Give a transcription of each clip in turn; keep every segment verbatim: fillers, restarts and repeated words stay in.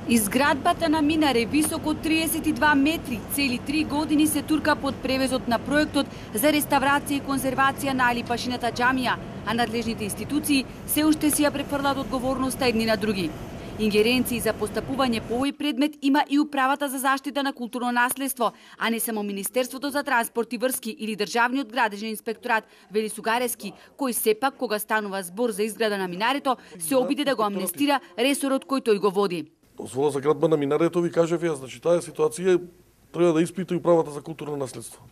Изградбата на Минаре, високо триесет и два метри, цели три години се турка под превезот на проектот за реставрација и конзервација на Алипашината џамија, а надлежните институции се уште си ја префрлаат одговорноста едни на други. Ингеренции за постапување по овој предмет има и Управата за заштита на културно наследство, а не само Министерството за транспорт и врски или Државниот градежен инспекторат, вели Сугарески, кој сепак кога станува збор за изграда на Минарето, се обиде да го амнестира ресорот кој тој го води. Дозвола за градба на Минарето ви кажев ја, значи таа ситуација треба да испита и Управата за културно наследство.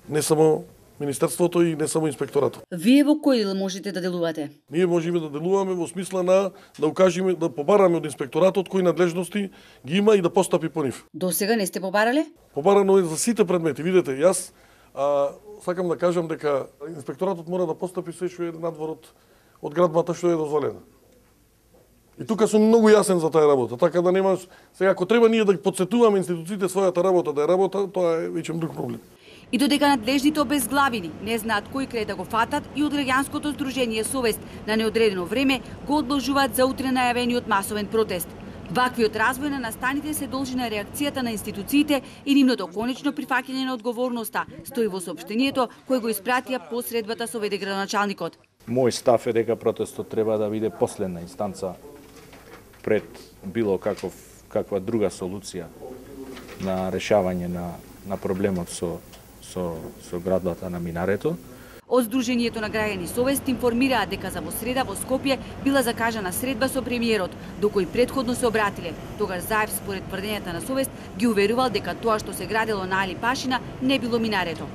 Не само Министерството и не само инспекторатот. Вие во кој дел можете да делувате? Ние можеме да делуваме во смисла на да укажеме, да побараме од инспекторатот кои надлежности ги има и да постапи по нив. До сега не сте побарале? Побарано е за сите предмети. Видете, јас а, сакам да кажам дека инспекторатот мора да постапи се што е надвор од, од градбата што е дозволена. И тука сум многу јасен за таа работа, така да нема сега ако треба ние да подсетуваме институциите својата работа да е работа, тоа е веќе друг проблем. И додека надлежните обезглавени не знаат кој крај да го фатат, и од граѓанското здружение Совест на неодредено време го одложуваат за утре најавениот масовен протест. Ваквиот развој на настаните се должи на реакцијата на институциите и нивното конечно прифаќање на одговорноста, стои во соопштението кој го испратија по средбата со веде градоначалникот. Мој став е дека протестот треба да биде последна инстанца пред било каков каква друга солуција на решавање на на проблемот со со со градбата на Минарето. Од Сдруженијето на граѓани Совест информираат дека за во среда во Скопје била закажана средба со премиерот, до кој претходно се обратиле. Тогаш Заев, според тврдењата на Совест, ги уверувал дека тоа што се градело на Алипашина не било Минарето.